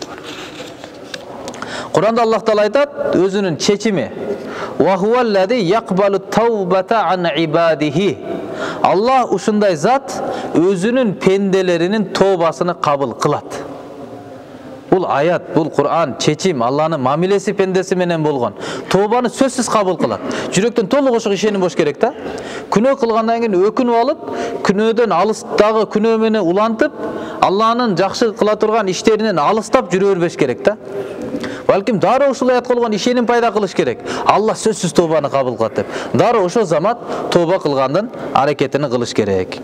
Куранда Аллах Таала айтат, өзүнүн чечими: "Ва хуаллази яқбалу таубата ан ибадихи." Аллах ушундай зат өзүнүн пенделеринин тообасын кабыл кылат. Бул аят, бул Кур'ан, чечим, Алланын мамилеси пендеси менен болгон. Тообаны сөзсүз кабыл кылат. Жүрөктөн толук ошого ишеним болуш керек да. Күнөө кылгандан кийин өкүнүп алып, күнөөдөн алыстагы күнөө менен улантып, Алланын жакшы кыла турган иштеринен алыстап жүрө бербеш керек да. Балким дароо ушул аят кылган ишеним пайда кылыш керек. Алла сөзсүз тообаны кабыл кылат деп. Дароо ошол замат тооба кылгандын аракетини кылыш керек.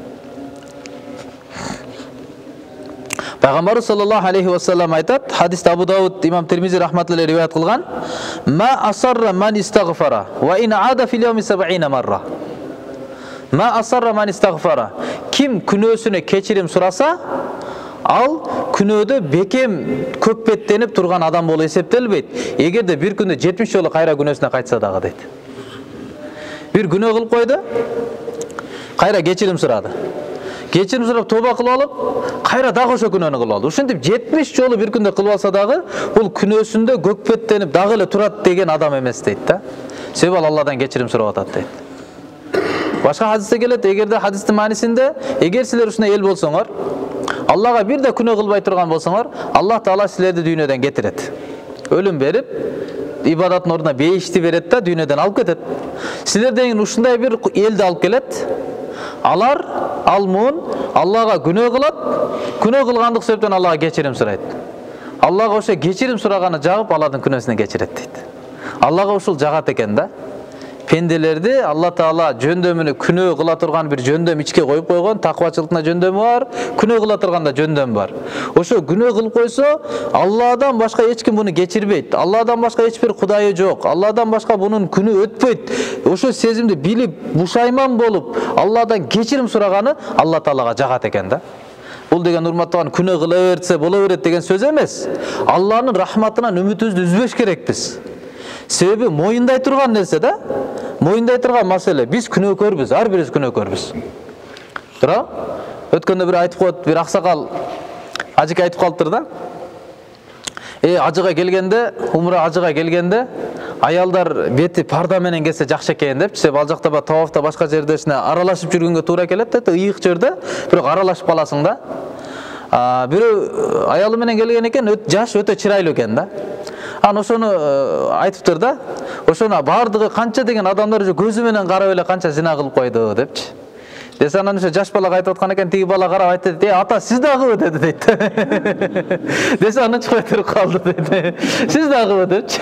Пайгамбар саллаллаху алейхи ва саллям айтат, хадис Абу Дауд, имам Тирмизи рахматуллахи риваят кылган: "Ма асарра ман истагфара ва ин ада фил йауми 70 марра." Ма асарра ман истагфара. Ким күнөөсүнө кечирим сураса, ал күнөөдө бекем көппеттенип турган адам болуп эсептелбейт. Эгерде бир күндө 70 жолу кайра күнөөсүнө кайтса дагы дейт. Бир күнөө кылып койду, кайра кечирим сурады. Кечирим сурап тооба кылып алып, кайра дагы ошо күнөөнү кылып алды. Ушинтип 70 жолу бир күндө кылып алса дагы, бул күнөөсүндө көкпеттенип дагы эле турат деген адам эмес дейт да. Себеби ал Алладан кечирим сурап атат дейт. Башка хадисте келет, эгерде хадистин маанисинде, эгер силер ушундай эл болсоңор, Аллага бир да күнөө кылбай турган болсоңор, Аллах Таала силерди дүйнөдөн кетирет. Өлүм берип, ибадаттын ордуна бейишти берет да дүйнөдөн алып кетет. Силерден ушундай бир элди алып келет. Алар алмун Аллага күнөө кылат, күнөө кылгандык себептен Аллага кечирим сурайт. Аллага ошо кечирим сураганы жагып, алардын күнөөсүн кечирет дейт. Аллага ушул жагат экен да. пенделерди Алла Таала жөндөмүнө күнөө кыла турган бир жөндөм ичке коюп койгон, таквачылыктын жөндөмү бар, күнөө кыла турган да жөндөм бар. Ошо күнөө кылып койсо, Алладан башка эч ким буну кечирбейт. Алладан башка эч бир кудайы жок. Алладан башка бунун күнү өтпөйт. Ошо сезимди билип, бушайман болуп, Алладан кечирим сураганы Алла Таалага жагат экен да. Бул деген урматтаган күнөө кыла берсе боло берет деген сөз эмес. Алланын рахматынан үмүтүбүздү үзбөш керекпиз. Себеби моюндай турган нерсе да. Моюндай турган маселе. Биз күнөөкөрбүз, ар бирибиз күнөөкөрбүз. Туура? Өткөндө бир айтып коет, бир аксакал ажык айтып калыптыр да. Ажыга келгенде, умра ажыга келгенде, аялдар бети парда менен келсе жакшы экен деп, себеби ал жакта тавафта башка жердесине аралашып жүргөнгө туура келет да, ыйык жерде, бирок аралашып каласың да. Бирөө аялы менен келген экен, жаш өтө чырайлуу экен да. Ошону айтыптыр да. Ошону бардыгы канча деген адамдар уже көзү менен карап эле канча зина кылып койду депчи. Десе анан ошо жаш бала айтып аткан экен, тиги бала карап айтты, ата сиз дагыбы деди дейт. Десе аны чыкпай туруп калды дейт. Сиз дагыбы депчи.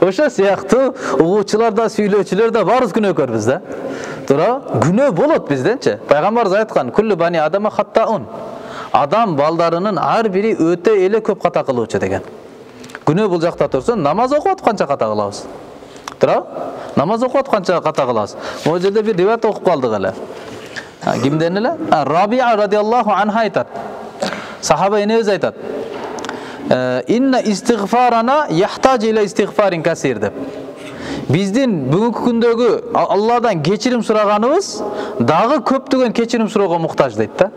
Ошо сыяктуу угуучулар да, сүйлөөчүлөр да баарыбыз күнөөкөрбүз да. Туура? Күнөө болот бизденчи. Пайгамбарыбыз айткан, "Куллу бани адама хаттаун." Адам балдарынын ар бири өтө эле көп ката кылуучу деген. Күнөө бул жакта турса, намаз окуп атканча ката кылабыз. Туура? Намаз окуп атканча ката кылабыз. Могу жерде бир риваят окуп калдык эле. Кимден эле? Рабия радиаллаху анха айтат. Сахаба энебиз айтат. Инна истигфарана яхтажу иля истигфарин касир деп. Биздин бүгүнкү күндөгү Алладан кечирим сураганыбыз дагы көптөгөн кечирим суроого муктаж дейт да.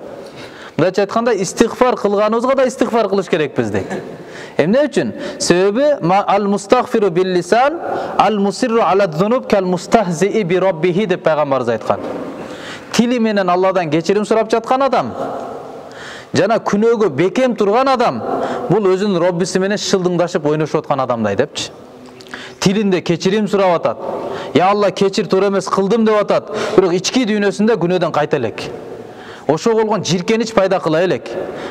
Мындайча айтканда, истигфар кылганыбызга да истигфар кылыш керекпиз дейт. Эмне үчүн? Себеби ал-мустагфиру бил-лисан, ал-мусирру ала-зунуб кал-мустахзии би раббихи деп пайгамбарыбыз айткан. Тили менен Алладан кечирим сурап жаткан адам жана күнөөгө бекем турган адам бул өзүнүн Роббиси менен шылдыңдашып ойношуп аткан адамдай депчи. Тилинде кечирим сурап атат. Я Алла, кечир, туура эмес кылдым деп атат. Бирок ички дүйнөсүндө күнөөдөн кайта элек. Ошо болгон жиркенич пайда кыла элек.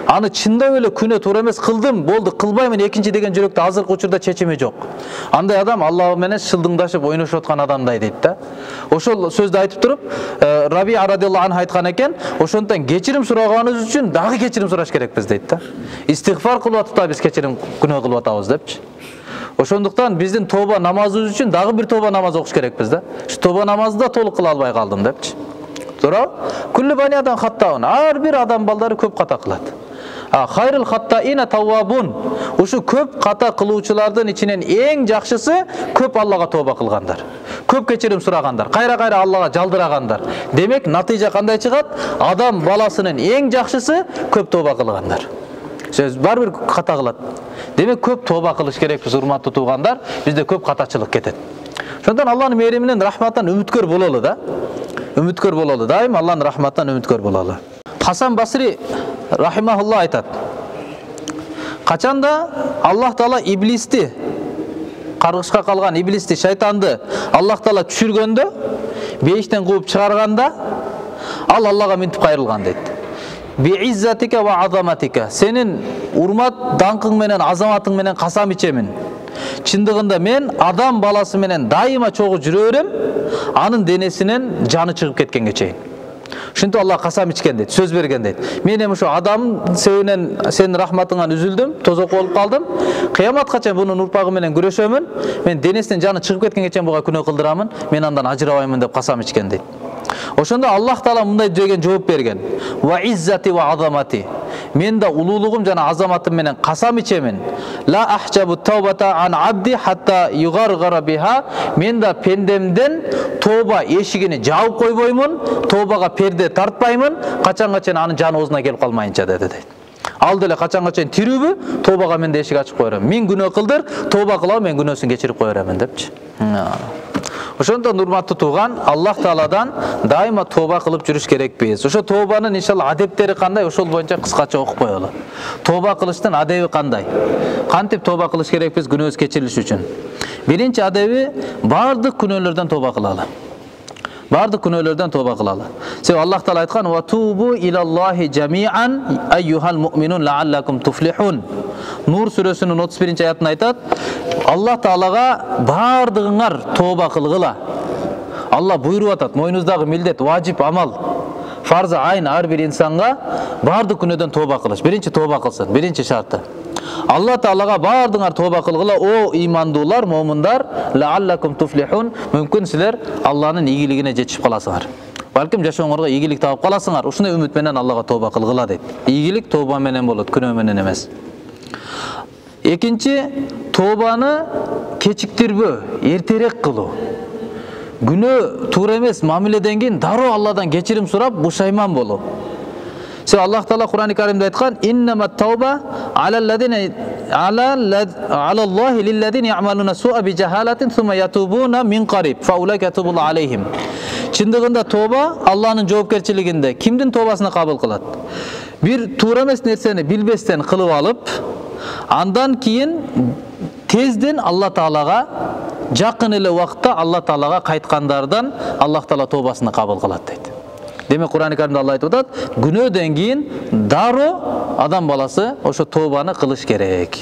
Аны чындап эле күнөө туура эмес кылдым, болду, кылбаймын экинчи деген жүрөктө азыркы учурда чечими жок. Андай адам Алла менен шылдыңдашып ойношуп аткан адамдай дейт да. Ошол сөздү айтып туруп, Рабия радиаллаху анху айткан экен, ошондон кечирим сураганыбыз үчүн дагы кечирим сураш керекпиз дейт да. Истигфар кылып атып да биз кечирим күнөө кылып атабыз депчи. Ошондуктан биздин тоба намазыбыз үчүн дагы бир тоба намаз окуш керекпиз да. Шу тоба намазды да толук кыла албай калдым депчи. Туура? Куллу бани адам хаттаун. Ар бир адам балдары көп ката кылат. Хайрул хаттаина таввабун. Ушу көп ката кылуучулардын ичинен эң жакшысы көп Аллага тоба кылгандар. Көп кечирим сурагандар, кайра-кайра Аллага жалдырагандар. Демек, натыйжа кандай чыгат? Адам баласынын эң жакшысы көп тоба кылгандар. Сөз бар бир ката кылат. Демек, көп тоба кылыш керекпиз, урматтуу туугандар. Бизде көп катачылык кетет. Ошондон Алланын мээриминен, рахматынан үмүткөр бололу да. Үмүткөр бололу. Дайым Алланын рахматынан үмүткөр бололу. Хасан Басри рахимахулла айтат. Качанда Аллах Таала иблисти, каргышка калган иблисти, шайтанды Аллах Таала түшүргөндө, бейиштен кууп чыгарганда, ал Аллага минтип кайрылган дейт. Бииззатика ва азаматика. Сенин урмат, даңкың менен, азаматың менен касам ичемин. Чындыгында мен адам баласы менен дайыма чогуу жүрө берем, анын денесинен жаны чыгып кеткенге чейин. Ошентип Алла касам ичкен дейт, сөз берген дейт. Мен эми ошо адам себебинен сенин рахматыңан үзүлдүм, тозок болуп калдым. Кыяматка чейин бунун урпагы менен күрөшөмүн. Мен денесинен жаны чыгып кеткенге чейин буга күнөө кылдырамын. Мен андан ажырабаймын деп касам ичкен дейт. Ошондо Аллах Таала мындай деген жооп берген. Ва иззати ва азамати. Мен да улуулугум жана азаматым менен касам ичемин. Ла ахжабу таубата ан абди хатта югаргара биха. Мен да пендемден тоба эшигини жаап койбоймун, тобага перде тартпаймын, качанга чейин анын жаны оозуна келип калмайынча деди дейт. Ал деле качанга чейин тирүүбү, тобага мен да эшик ачып кое берем. Мен күнөө кылдыр, тоба кылам, мен күнөөсүн кечирип кое беремин депчи. Ошондон урматтуу тууган, Аллах Тааладан дайыма тоба кылып жүрүш керекпиз. Ошо тобанын иншалла адептери кандай, ошол боюнча кыскача окуп коелу. Тоба кылыштын адеби кандай? Кантип тоба кылыш керекпиз күнөөбүз кечирилиш үчүн? Биринчи адеби бардык күнөөлөрдөн тоба кылалы. Бардык күнөөлөрдөн тоба кылалы. Себеби Аллах Таала айткан: "Ва тубу илаллахи жамиан айюхал муъминун лааллакум туфлихун." Нур сүрөсүнүн 31-аятында айтат: Аллах Таалага бардыгыңар тоба кылгыла. Алла буйруп атат, мойнуңуздагы милдет, важип амал, фарзы айын ар бир инсанга бардык күнөөдөн тооба кылыш. Биринчи тооба кылсын, биринчи шарты. Алла Таалага бардыңар тооба кылгыла, о имандуулар, момундар, лааллакум туфлихун, мүмкүн силер Алланын ийгилигине жетишип каласыңар. Балким жашооңорго ийгилик таап каласыңар. Ушундай үмүт менен Аллага тооба кылгыла дейт. Ийгилик тооба менен болот, күнөө менен эмес. Экинчи, тообаны кечиктирбөө, эртерээк кылуу. Күнөө туура эмес мамиледен кийин дароо Алладан кечирим сурап, бушайман болуу. Аллах Таала Кур'ан-ы Каримде айткан: "Иннамат тауба алаллазина алаллахи лиллазина я'малуна су'a bijahalatin thumma yatubuna min qarib fa ulaika yatubu алейхим." Чындыгында тооба Алланын жоопкерчилигинде. Кимдин тообасына кабыл кылат? Бир туура эмес нерсени билбестен кылып алып, андан кийин тезден Алла Таалага, жакын эле убакытта Алла Таалага кайткандардан Аллах Таала тообасын кабыл кылат дейт. Демек Кур'ан-ы Каримде Алла айтып атат, күнөөдөн кийин дароо адам баласы ошо тообаны кылыш керек.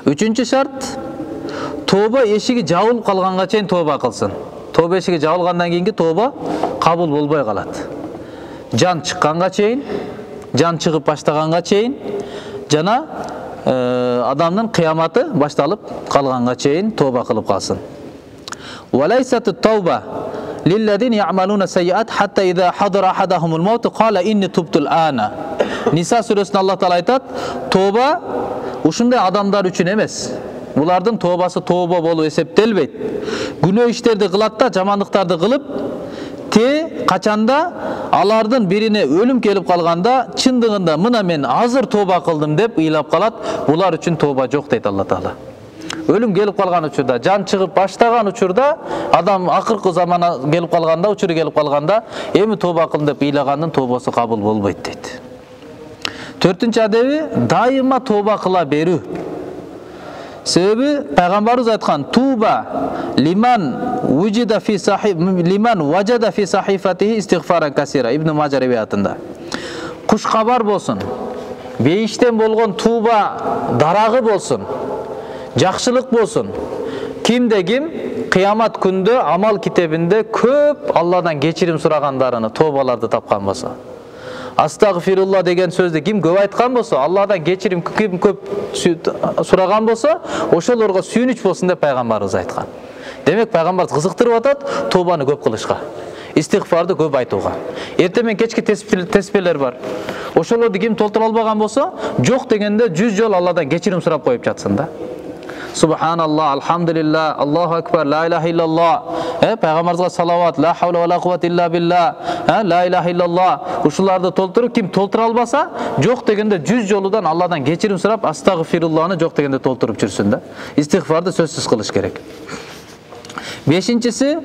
Үчүнчү шарт, тооба эшиги жабылып калганга чейин тооба кылсын. Тооба эшиги жабылгандан кийинки тооба кабыл болбой калат. Жан чыкканга чейин, жан чыгып баштаганга чейин жана адамдын кыяматы башталып калганга чейин тооба кылып калсын. Валайсатут тауба лиллазина я'малуна сайyi'at hatta idha hadara ahadahumul maut qala inni tubtu al-ana. Ниса сүрөсүндө Аллах Таала айтат, тооба ушундай адамдар үчүн эмес. Булардын тообасы тооба болуп эсептелбейт. Күнөө иштерди кылат да, жамандыктарды кылып, качанда алардын бирине өлүм келип калганда, чындыгында мына мен азыр тооба кылдым деп ыйлап калат. Булар үчүн тооба жок дейт Алла Таала. Өлүм келип калган учурда, жан чыгып баштаган учурда, адам акыркы замана келип калганда, учуру келип калганда, эми тооба кылдым деп ыйлагандын тообасы кабыл болбойт дейт. Төртүнчү адеби, дайыма тооба кыла берүү. Себеби пайгамбарыбыз айткан: "Туба лиман вujida fi sahif liman wajada fi sahifatihi istighfaran kasira." Ибн Мажа риваятында. Куш кабар болсун, бейиштен болгон тууба дарагы болсун, жакшылык болсун. Кимде ким кыямат күндө амал китебинде көп Алладан кечирим сурагандарыны, тообаларды тапкан болсо. Астагфирулла деген сөздү ким көп айткан болсо, Алладан кечирим ким көп сураган болсо, ошолорго сүйүнүч болсун деп пайгамбарыбыз айткан. Демек пайгамбарыбыз кызыктырып атат тообаны көп кылышка, истигфарды көп айтууга. Эртең менен кечки теспелер бар. Ошолорду ким толтура албаган болсо, жок дегенде 100 жол Алладан кечирим сурап коюп жатсын да. Субханалла, алхамдулилла, Аллаху акбар, ла илаха иллаллах. Пайгамбарыбызга салават, ла хавла ва ла куввата илля билла, ла илаха иллаллах. Ушуларды толтуруп, ким толтура албаса, жок дегенде 100 жолудан Алладан кечирим сурап, астагфируллахны жок дегенде толтуруп жүрсүн да. Истигфарды сөзсүз кылыш керек. Бешинчиси,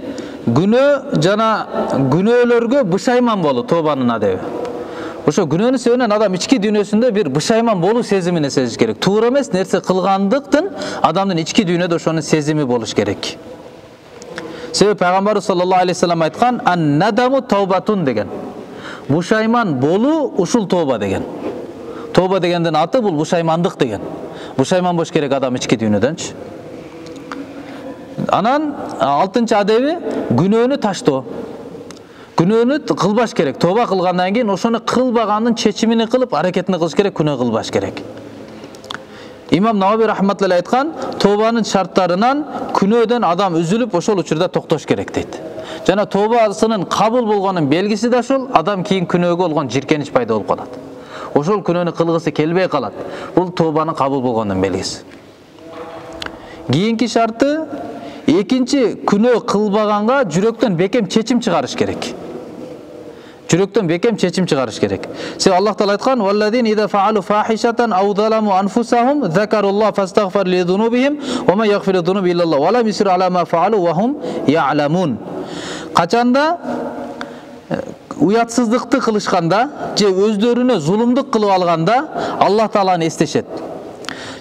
күнөө жана күнөөлөргө бышайман болуу, тообанын адеби. Ошо күнөөнүн себебинен адам ички дүйнөсүндө бир бышайман болуу сезимине сезиш керек. Туура эмес нерсе кылгандыктын адамдын ички дүйнөдө ошонун сезими болуш керек. Себеби пайгамбарыбыз саллаллаху алейхи вассалам айткан: "Ан-надаму таубатун" деген. Бушайман болуу ушул тооба деген. Тооба дегендин аты бул бушаймандык деген. Бушайман болуш керек адам ички дүйнөдөнчү. Анан 6-чы адеби күнөөнү таштоо. Күнөөнү кылбаш керек. Тооба кылгандан кийин ошону кылбаганын чечимини кылып, аракетин кылыш керек, күнөө кылбаш керек. Имам Навави рахматуллахи айткан, тообанын шарттарынан күнөөдөн адам үзүлүп, ошол учурда токтош керек дейт. Жана тообасынын кабыл болгонун белгиси да ошол, адам кийин күнөөгө болгон жиркенич пайда болуп калат. Ошол күнөөнү кылгысы келбей калат. Бул тообанын кабыл болгонунун белгиси. Кийинки шарты, экинчи күнөө кылбаганга жүрөктөн бекем чечим чыгарыш керек. Жүрөктөн бекем чечим чыгарыш керек. Себеби Аллах Таала айткан: "Валлазин иза фаалу фахишатан ау заламу анфусахум закаруллах фастагфар ли зунубихим ва ма ягфиру зунуба иллаллах ва ла юсиру ала ма фаалу ва хум я'ламун." Качанда уятсыздыкты кылышканда же өздөрүнө зулумдук кылып алганда Аллах Тааланы эстешет.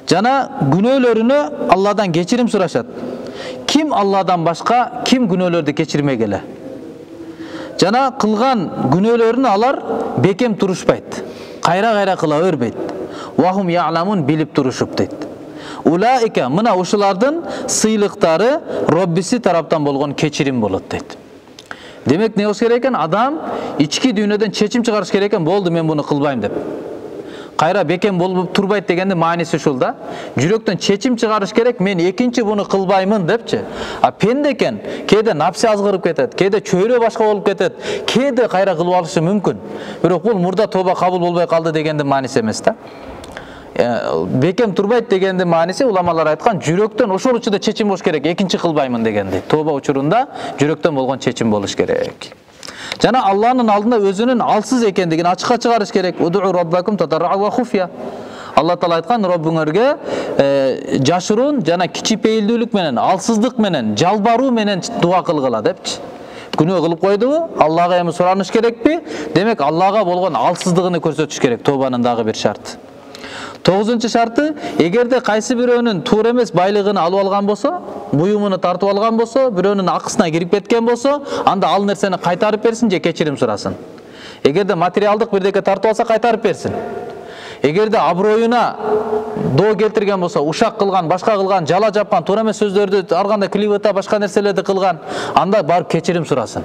Жана күнөөлөрүнө Алладан кечирим сурашат. Ким Алладан башка ким күнөөлөрдү кечирмегеле? Жана кылган күнөөлөрүнү алар бекем турушпайт. Кайра-кайра кыла бербейт. Вахум я'ламун, билип турушуп дейт. Улаика мына ушулардын сыйлыктары Роббиси тараптан болгон кечирим болот дейт. Демек не болуш керек экен? Адам ички дүйнөдөн чечим чыгарыш керек экен, болду мен буну кылбайм деп. Кайра бекем болуп турбайт дегенде мааниси ушул да. Жүрөктөн чечим чыгарыш керек, мен экинчи буну кылбаймын депчи. А пенде экен, кээде напси азгырып кетет, кээде чөйрө башка болуп кетет, кээде кайра кылып алышы мүмкүн. Бирок бул мурда тоба кабыл болбой калды дегенде мааниси эмес да. Бекем турбайт дегенде мааниси уламалар айткан, жүрөктөн ошол учурда чечим болуш керек, экинчи кылбаймын дегенди. Тоба учурунда жүрөктөн болгон чечим болуш керек. Жана Алланын алдында өзүнүн алсыз экендигин ачыкка чыгарыш керек. Удуу роббакум тадарра ва хуфия. Алла Таала айткан, Роббуңөргө жашыруун жана кичипейилдүүлүк менен, алсыздык менен, жалбаруу менен дуа кылгыла депчи. Күнөө кылып койдубу? Аллага эми сураныш керекпи? Демек Аллага болгон алсыздыгын көрсөтүш керек. Тобанын дагы бир шарты. 9-нчы шарты, эгерде кайсы бирөөнүн туура эмес байлыгын алып алган болсо, буюмуну тартып алган болсо, бирөөнүн акысына кирип кеткен болсо, анда ал нерсени кайтарып берсин же кечирим сурасын. Эгерде материалдык бирдеке тартып алса, кайтарып берсин. Эгерде аброюна доо келтирген болсо, ушак кылган, башка кылган, жала жапкан, туура эмес сөздөрдү арганда клевета, башка нерселерди кылган, анда барып кечирим сурасын.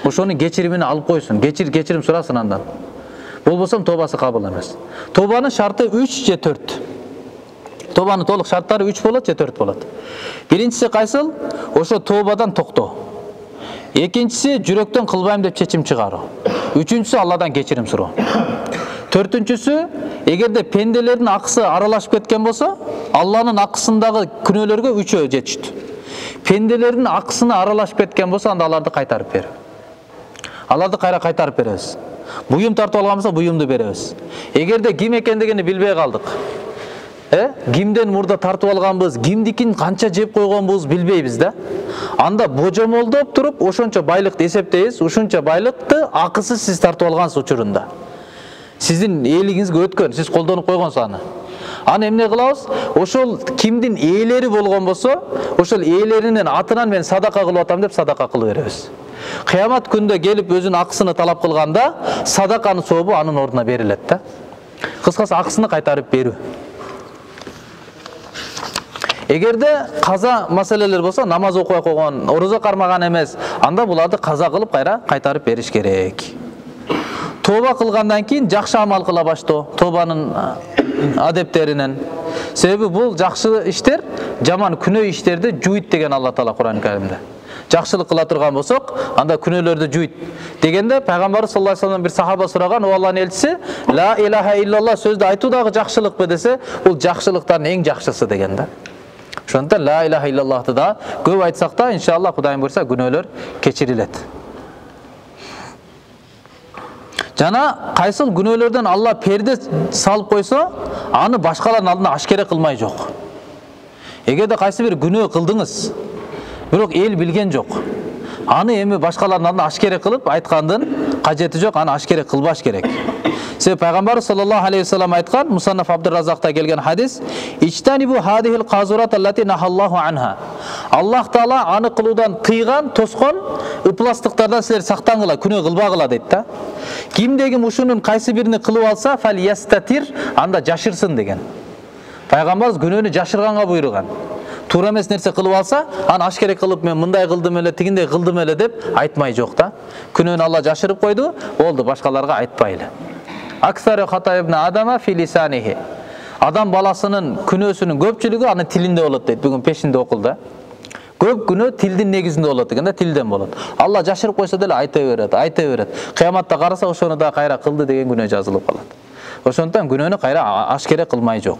Ошонун кечиримин алып койсун, кечирим сурасын андан. Болбосом тобасы кабыл эмес. Тобанын шарты 3 же 4. Тобанын толук шарттары 3 болот же 4 болот. Биринчиси кайсыл? Ошо тобадан токтоо. Экинчиси жүрөктөн кылбайм деп чечим чыгаруу. Үчүнчүсү Алладан кечирим суроо. Төртүнчүсү, эгерде пенделердин акысы аралашып кеткен болсо, Алланын акысындагы күнөөлөргө 3-өө жетиштүү. Пенделердин акысына аралашып кеткен болсо, анда аларды кайтарып берүү. Аларды кайра кайтарып беребиз. Буюм тартып алган болсо, буюмду беребиз. Эгерде ким экендигини билбей калдык. Кимден мурда тартып алганбыз, кимдикин канча жеп койгонбуз билбейбиз да. Анда божомолдоп туруп, ошончо байлыкты эсептейбиз, ушунча байлыкты акысыз сиз тартып алгансыз учурунда. Сиздин ээлигиңизге өткөн, сиз колдонуп койгонсуз аны. Аны эмне кылабыз? Ошол кимдин ээлери болгон болсо, ошол ээлеринин атынан мен садака кылып атам деп садака кылып беребиз. Кыямат күндө келип өзүнүн акысыны талап кылганда, садаканын сообу анын ордуна берилет да. Кыскасы акысыны кайтарып берүү. Эгерде каза маселелер болсо, намаз окубай койгон, орозо кармаган эмес, анда буларды каза кылып кайра кайтарып бериш керек. Тоба кылгандан кийин жакшы амал кыла баштоо, тобанын адептеринен. Себеби бул жакшы иштер жаман күнөө иштерди жуйт деген Алла Таала Кур'ан Каримде. Жакшылык кыла турган болсок, анда күнөөлөрдү жуйт. Дегенде пайгамбарыбыз саллаллаху алейхи вассалам бир сахаба сураган, "О Алланын элчиси, ла илаха иллаллах сөздү айтуу дагы жакшылыкпы?" десе, бул жакшылыктардын эң жакшысы деген да. Ошондуктан ла илаха иллаллахты да көп айтсак да, иншалла Кудайым буйрса күнөөлөр кечирилет. Жана кайсыл күнөөлөрдөн Алла перде салып койсо, аны башкалардын алдында ашкере кылмай жок. Эгерде кайсы бир күнөө кылдыңыз, бирок эл билген жок, аны эми башкалардын алдында ашкере кылып айткандын кажети жок, аны ашкере кылбаш керек. Себеби пайгамбар саллаллаху алейхи вассалам айткан, Мусаннаф Абдурразакта келген хадис, "Ичтанибу хадихил казурат аллати нахаллаху анха." Аллах Таала аны кылуудан тыйган, тоскон ыпластыктардан силер сактангыла, күнөө кылбагыла дейт да. Кимде ким ушунун кайсы бирини кылып алса, фал ястатир, анда жашырсын деген. Пайгамбарыбыз күнөөнү жашырганга буйруган. Туура эмес нерсе кылып алса, аны ашкере кылып мен мындай кылдым эле, тигиндей кылдым эле деп айтмай жок да. Күнөөнү Алла жашырып койду, болду, башкаларга айтпайлы. Аксару хата ибн адама фи лисанихи. Адам баласынын күнөөсүнүн көпчүлүгү анын тилинде болот дейт. Бүгүн пешинде окулду. Көп күнөө тилдин негизинде болот деген да, тилден болот. Алла жашырып койсо деле айта берет. Кыяматта караса ошону да кайра кылды деген күнөө жазылып калат. Ошондуктан күнөөнү кайра ашкере кылмай жок.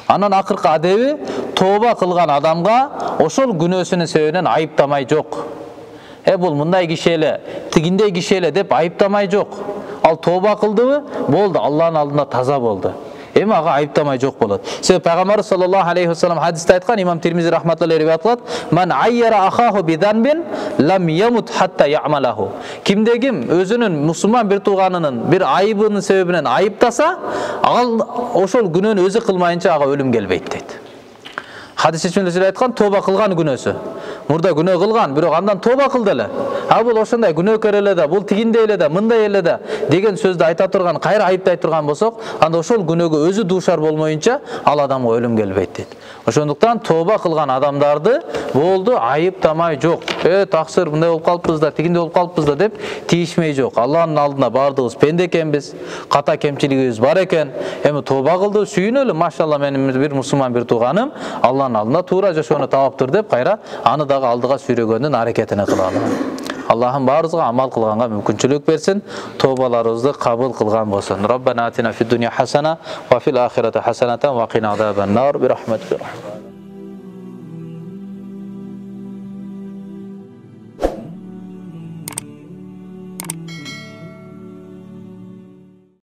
Анан акыркы адеби, тооба кылган адамга ошол күнөөсүнүн себебинен айыптамай жок. Бул мындай киши эле, тигиндей киши эле деп айыптамай жок. Ал тооба кылдыбы, болду, Алланын алдында таза болду. Эми ага айыптамай жок болот. Себеби пайгамбар саллаллаху алейхи вассалам хадисте айткан, имам Тирмизи рахматуллахи алейхи айткан, "Ман айяра ахаху биданбин лам ямут хатта я'малаху." Кимде ким өзүнүн мусулман бир тууганынын бир айыбынын себебинен айыптаса, ал ошол күнөөнү өзү кылмайынча ага өлүм келбейт дейт. Хадис ичинде айткан, тооба кылган күнөөсү. мурда күнөө кылган, бирок андан тооба кылды эле. А бул ошондой күнөөкөр эле да, бул тигиндей эле да, мындай эле да деген сөздү айта турган, кайра айыптай турган болсок, анда ошол күнөөгө өзү дуушар болмоюнча ал адамга өлүм келбейт дейт. Ошондуктан тооба кылган адамдарды болду айыптамай жок. Таксир мындай болуп калыппыз да, тигиндей болуп калыппыз да деп тийишмей жок. Алланын алдында баардыгыбыз пенде экенбиз, ката кемчилигибиз бар экен. Эми тооба кылды, сүйүнөлү, машалла менин бир мусулман бир тууганым Алланын алдында туура жашоону таптыр деп кайра аны дагы алдыга сүйрөгөндүн аракетине кылалы. Аллахым баарыбызга амал кылганга мүмкүнчүлүк берсин, тообаларыбызды кабыл кылган болсун. Роббана атина фид дунья хасана ва фил ахирати хасанатан ва кина азабан нар би рахматика.